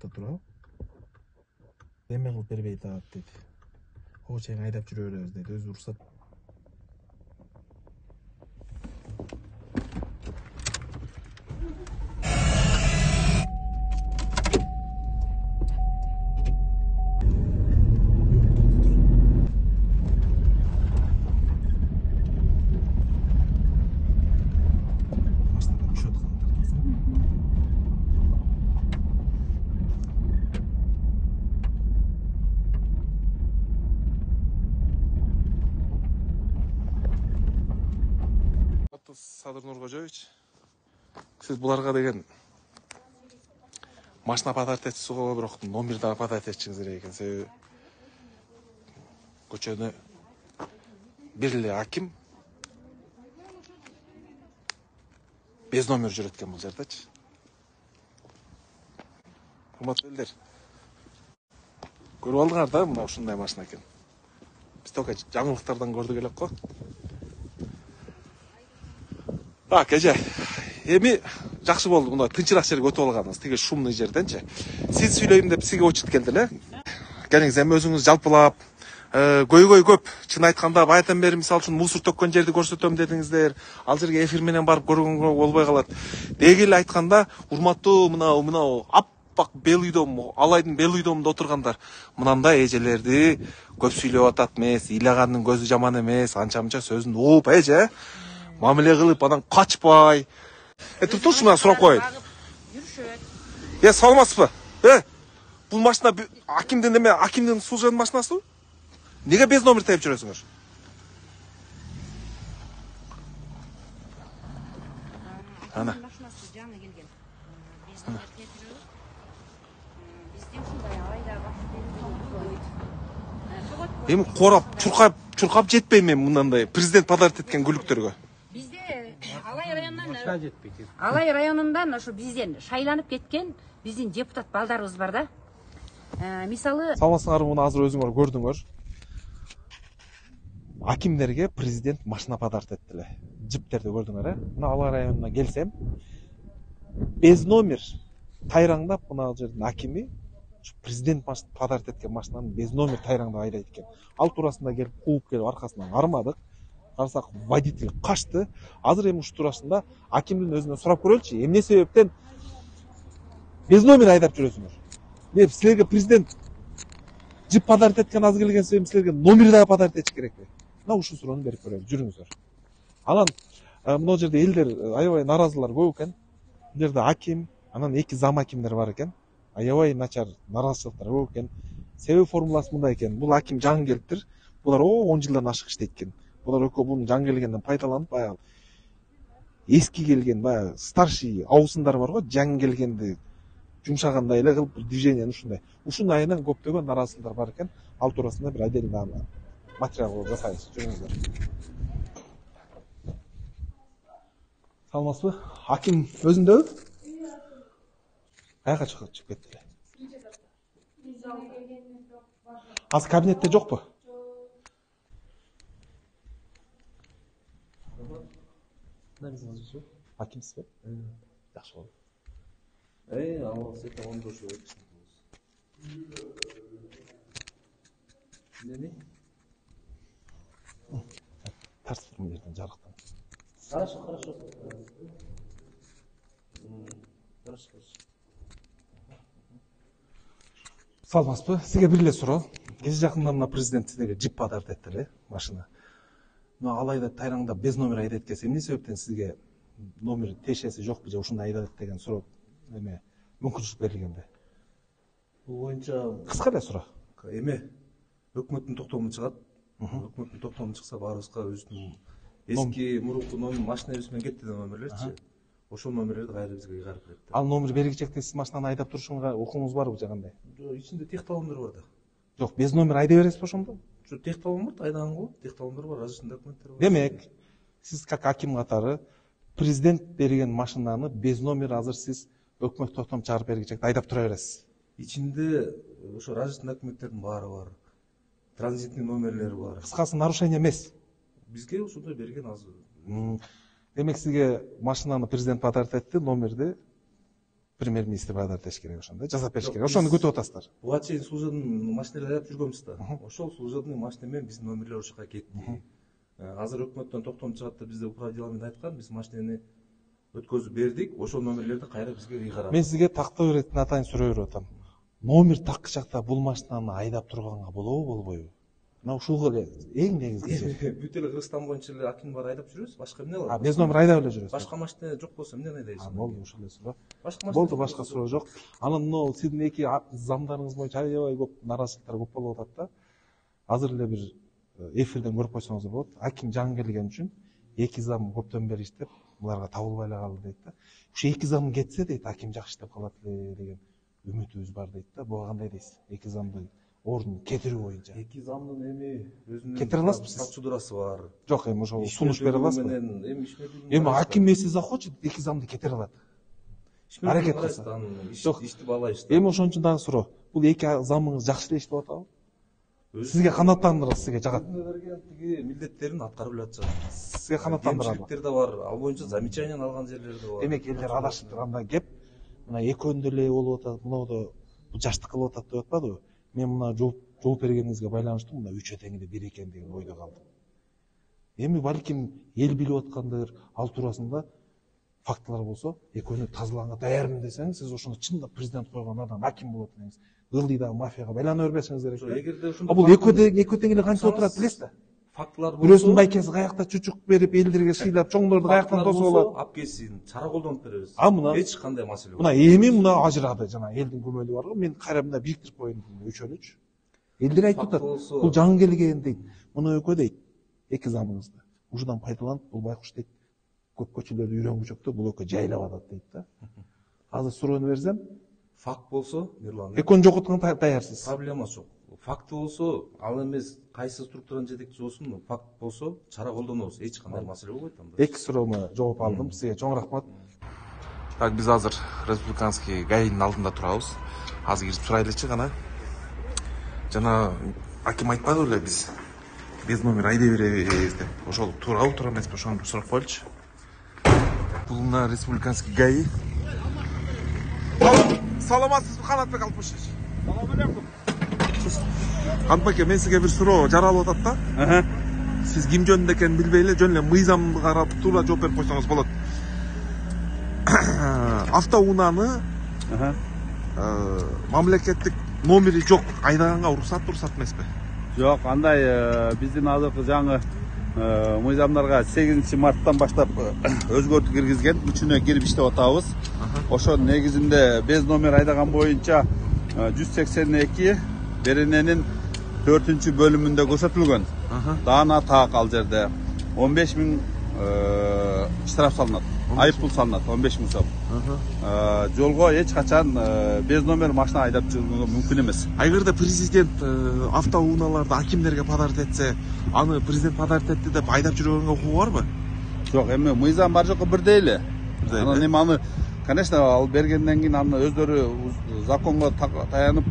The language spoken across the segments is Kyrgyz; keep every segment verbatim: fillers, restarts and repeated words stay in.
жакта туруп эме кылып бербейт атат дейт. Ого чейин айдап жүрө беребиз дейт. Өзү уруксат. Садыр Нуркожоевич, сиз буларга деген машина подать этсиңер, бирок номер да подать этишиңиз керек экен. Себеби көчөнү бир эле аким без номер жүрөт экен бул жerdечи. Урматтуу элдер, көрүп алдыңар да, мына ушундай машина экен. Биз только жаңылыктардан көрдүк элек го. Так, эже, эми жакшы болду, мына тынчыраак жерге өтүп алганбыз, тиги шумный жерденчи. Сиз сүйлөйм деп сизге очут келди эле. Кеңиз эми өзүңүз жалпылап, көйгөй көп. Чын айтканда, баятан бери мисалы үчүн мусор төккөн жерди көрсөтөм дедиңиздер. Ал жерге эфир менен барып көргөнгө болбой калат. Деги эле айтканда, урматтуу мына мына аппак бел үйдөн, алайдын бел үйдөнүндө отургандар, мынандай эжелерди көп сүйлөп атат эмес, ыйлагандын көзү жаман эмес, анча-мынча сөзүн угуп, эже. Мамиле кылып, анан качпай. Э, туруңузчу, мына сурап коеюн. Жүрүшөт. Э, саламатсызбы? Э, бул машина акимдин эме, акимдин служебный машинасыбы? Неге без номер тээп жүрөсүңөр? Ана. Машинасы жаңы келген. Без номер тээп жүрөбүз. Бизде ушундай алайда бак. Эми корап, чуркап, чуркап жетпейм мен мындандай президент подарок эткен гүлүктөргө. Алай районунан Алай районундан ошо бизден шайланып кеткен биздин депутат балдарыбыз бар да. Мисалы, саламатсыңарбы, муну азыр өзүңөр көрдүңөр. Акимдерге президент машина подарок этти эле. Жиптерди көрдүңөр, э? Мына Алай районуна келсем, без номер тайраңдап мына жердин акими президент подарок эткен машинаны без номер тайраңдап айдайт экен. Ал туурасында келип кууп келип аркасынан кармадык. Карасак, водитель качты. Азыр эми ушу туурасында акимдин өзүнөн сурап көрөлүчү, эмне себептен без номер айдап жүрөсүңөр? Деп силерге президент жип подарок эткен аз келген себебим силерге номер да подарок этиш керекпи? Мына ушул суроону берип көрөлү, жүрүңүздөр. Анан мына жерде элдер аябай наразылар көп экен. Бул жерде аким, анан эки зам акимдер бар экен. Аябай начар наразычылыктар көп экен. Себеп формуласы мындай экен. Бул аким жаңы келиптир. Булар о он жылдан ашык иштейт экен. Булар экөө бунун жаңы келгенден пайдаланып, баягы эски келген, баягы старший аусындар бар го, жаңы келгенди жумшагандай эле кылып движение ушундай. Ушунун айынан көптөгөн наразылыктар бар экен. Ал туурасында бир отдельно материал жасайбыз. Жүрүңүздөр. Саламатсызбы? Аким өзүндөбү? Каяка чыгып кетти эле? Азыр кабинетте жокпу? Акимсизби? Жакшы болду. Эй, ал сете он дошу өтүш. Эмне? Трансформерден жарыктан. Хорошо, хорошо. Хорошо. Саламатсызбы? Сизге бир эле суроо. Кече жакында мына президент сизге жип подарок этти эле, машина. Но алайда тайраңдап без номер айдайт экен. Эмне себептен сизге номер тиешеси жокпу же ушундай айдайт деген суроо эме мүмкүнчүлүк берилгенде? Бул боюнча кыска эле суроо. Эме өкмөттүн токтому чыгат. Өкмөттүн токтому чыкса баарыбызга өзүнүн эски мурунку номер машинабыз менен кетти деген номерлерчи. Ошол номерлерди кайра бизге кайгарып берет. Ал номер бергичекте сиз машинаны айдап турушуңузга укугуңуз барбы же кандай? Жок, ичинде тех талондор бар да. Жок, без номер айдай бересизби ошондо? Жок, тех талон бар, айдаган болот. Тех талондор бар, различный документтер бар. Демек, сиз как аким катары президент берген машинаны без номер азыр сиз өкмөт токтом чыгарып бергичекте айдап тура бересиз. Ичинде ошо различный документтердин баары бар. Транзитный номерлери бар. Кыскасы нарушение эмес. Бизге ошондой берген азыр. Демек сизге машинаны президент подарок этти, номерди премьер-министр бадар этиш керек, ошондой жасап бериш керек. Ошону күтүп атасыздар. Буга чейин служебный машинелерди айдап жүргөнбүз да. Ошол служебный машина менен биздин номерлер ошол жака кетти. Азыр өкмөттөн токтом чыгат деп бизде управдилование айткан, биз машинени өткөзүп бердик, ошол номерлерди кайра бизге ыйгарат. Мен сизге тактоо беретін атайын суроо берип атам. Номер такы жакта бул машинаны айдап турганга болобу, болбойбу? Мына ушул эле эң негизги жер. Бүт эле Кыргызстан боюнча эле аким бар айдап жүрөбүз, башка эмне бар? А, без номер айдап эле жүрөсүз. Башка машина жок болсо эмнени айдайсыз? Болду, ушул эле суроо. Башка машина. Болду, башка суроо жок. Анан мына сиздин эки замдарыңыз боюнча аябай көп нараазычылыктар көп болуп атат да. Азыр эле бир эфирден көрүп койсоңуз болот. Аким жаңы келген үчүн эки зам көптөн бери иштеп, буларга табылбай эле калды дейт да. Ушу эки зам кетсе дейт, аким жакшы иштеп калат эле деген үмүтүбүз бар дейт да. Буга кандай дейсиз? Эки замды ордун кетирүү боюнча. Эки замдын эми өзүнүн кетире аласызбы сиз? процедурасы бар. Жок, эми ошол сунуш бере аласызбы? Эми ишмердүүлүгү. Эми аким если захочет, эки замды кетире алат. Аракет кылса. Жок, ишти балайбыз. Эми ошон үчүн дагы суроо. Бул эки замыңыз жакшы эле иштеп атабы? Сизге канааттандырат, сизге жагат. Өзүнө берген тиги милдеттерин аткарып эле атышат. Сизге канааттандырат. Кемчиликтер да бар, ал боюнча замечание алган жерлер да бар. Демек элдер адашып турганда кеп, мына экөөндө эле болуп атат, мынау бул жаштык кылып атат деп атпадыбы? Мен мына жооп жооп бергениңизге байланыштуу мына үч этеңде бир экен деген ойдо калдым. Эми балким эл билип аткандыр, ал туурасында фактылар болсо, экөөнү тазаланга даярмын десеңиз, сиз ошондо чындап президент койгон адам аким болот деңиз. Ылдыйда мафияга байлана бербесиңиз керек. Эгерде ошондо А бул экөө экөө тең эле канча отурат билесиз да? Фактылар болсо, бирөөсүнүн байкеси каякта чучук берип, элдерге шыйлап, чоңдорду каяктан тосуп алат. Апкесин чара колдонуп беребиз. А мына эч кандай маселе жок. Мына эми мына ажырады жана элдин көмөлү бар го. Мен кайра мына бириктирип коеюн үчөөнүчү. Элдер айтып атат. Бул жаңы келген дейт. Мына экөө дейт. Эки замыңызды. Ушудан пайдаланып, бул байкуш дейт. Көп көчөлөрдү үйрөнгүчөктө бул экөө жайлап атат дейт да. Азыр суроону берсем, факт болсо, Мирлан. экөөнү жокотконго даярсыз. Проблема жок. Факт болсо, ал эмес кайсы структуранын жетекчиси болсун, факт болсо, чара колдонобуз. Эч кандай маселе болбойт анда. Эки суроомо жооп алдым. Сизге чоң рахмат. Так, биз азыр республиканский гаинин алдында турабыз. Азыр кирип сурайлычы гана. Жана аким айтпады беле биз без номер айдай беребиз деп. Ошол туурабы, туура эмеспи? Ошону сурап коелучу. Бул мына республиканский гаи. Саламатсызбы, Канатбек Алпышевич? Салам алейкум. Канатбек, мен сизге бир суроо жаралып атат да. Сиз ким жөнүндө экенин билбей эле, жөн эле мыйзамды карап туура жооп берип койсоңуз болот. Автоунааны мамлекеттик номери жок айдаганга уруксат уруксат эмеспи? Жок, андай биздин азыркы жаңы мыйзамдарга сегизинчи марттан баштап өзгөртүү киргизген, үчүнө кирип иштеп атабыз. Ошонун негизинде без номер айдаган боюнча жүз сексен эки берененин төртүнчү бөлүмүндө көрсөтүлгөн. Даана так ал жерде он беш миң штраф салынат. Айып пул салынат он беш миң сом. Жолго эч качан без номер машина айдап жүрүүгө мүмкүн эмес. Эгерде президент автоунааларды акимдерге подарок этсе, аны президент подарок этти деп айдап жүргөнгө укугу барбы? Жок, эми мыйзам бар жокко бирдей эле. Анан эми аны, конечно, ал бергенден кийин аны өздөрү законго таянып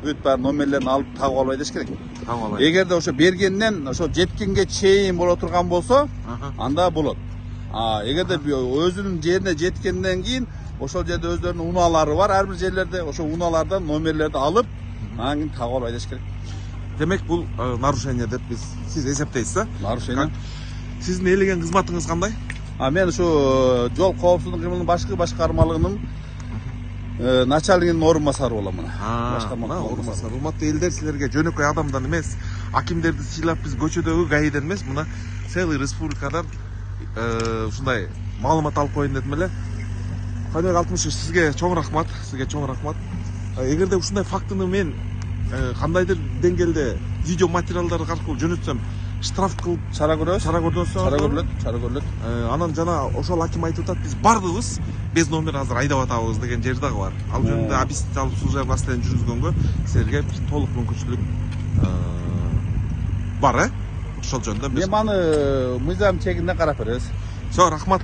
бүт баары номерлерин алып тагып албай деш керек. Тагып албай. Эгерде ошо бергенден ошо жеткенге чейин боло турган болсо, анда болот. А эгерде өзүнүн жерине жеткенден кийин ошол жерде өздөрүнүн унаалары бар, ар бир жерлерде ошо унаалардан номерлерди алып, анан кийин тагып албай деш керек. Демек бул нарушение деп биз сиз эсептейсиз да? Нарушение. Сиздин ээлеген кызматыңыз кандай? А мен ушу жол коопсуздук кыймылынын башкы башкармалыгынын начальнигинин орун басары болом мына. Башкарма орун басары. Урматтуу элдер, силерге жөнөкөй адамдан эмес, акимдерди сыйлап биз көчөдөгү гаиден эмес, мына целый республикадан ушундай маалымат алып коеюн дедим эле. Канатбек Алпышевич, сизге чоң рахмат, сизге чоң рахмат. Эгерде ушундай фактыны мен кандайдыр деңгээлде видео материалдар аркылуу жөнөтсөм, штраф кылып чара көрөбүз. Чара көрдүңүз? Чара көрүлөт, чара көрүлөт. Анан жана ошол аким айтып атат, биз бардыгыбыз без номер азыр айдап атабыз деген жери дагы бар. Ал жөнүндө объяснить алып служебный расследование жүргүзгөнгө силерге толук мүмкүнчүлүк бар, э? Ошол жөнүндө эми аны мыйзам чегинде карап беребиз. Все, рахмат.